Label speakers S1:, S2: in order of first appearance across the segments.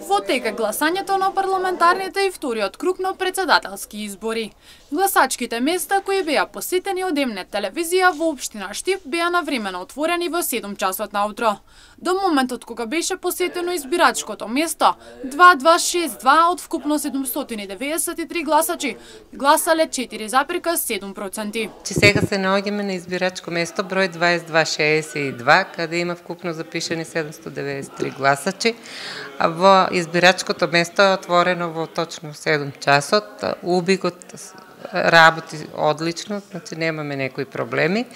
S1: Во тека гласањето на парламентарните и вториот круг на председателски избори. Гласачките места кои беа посетени од М-нет телевизија во општина Штип беа навремено отворени во 7 часот наутро. До моментот кога беше посетено избирачкото место, 2262 од вкупно 793 гласачи гласале 4,7%.
S2: Сега се наоѓаме на избирачко место број 2262, каде има вкупно запишани 793 гласачи. Во избирачкото место е отворено во точно 7 часот. Убигот работи одлично, значи немаме некои проблеми.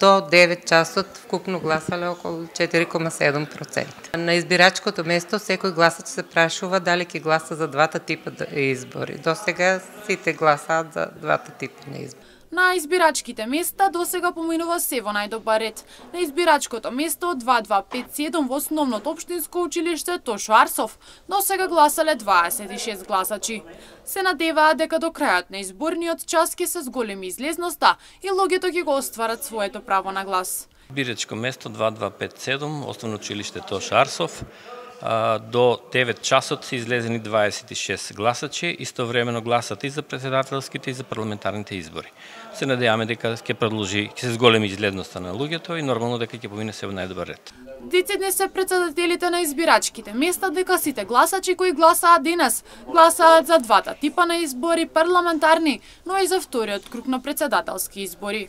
S2: До 9 часот вкупно гласале околу 4,7%. На избирачкото место секој гласач се прашува дали ќе гласа за двата типа избори. До сега сите гласаат за двата типа на избори.
S1: На избирачките места досега поминува се во најдобар ред. На избирачкото место 2257 во основното општинско училиште Тошо Арсов досега гласале 26 гласачи. Се надеваат дека до крајот на изборниот час ќе се зголеми излезноста и луѓето ќе го остварат своето право на глас.
S3: Избирачко место 2257, основно училиште Тошо Арсов. До 9 часот се излезени 26 гласачи, истовремено гласат и за председателските и за парламентарните избори. Се надеваме дека ќе се зголеми излезноста на луѓето и нормално дека ќе помине се во најдобар ред.
S1: Децидни се председателите на избирачките места дека сите гласачи кои гласаат денес гласаат за двата типа на избори парламентарни, но и за вториот круг на председателски избори.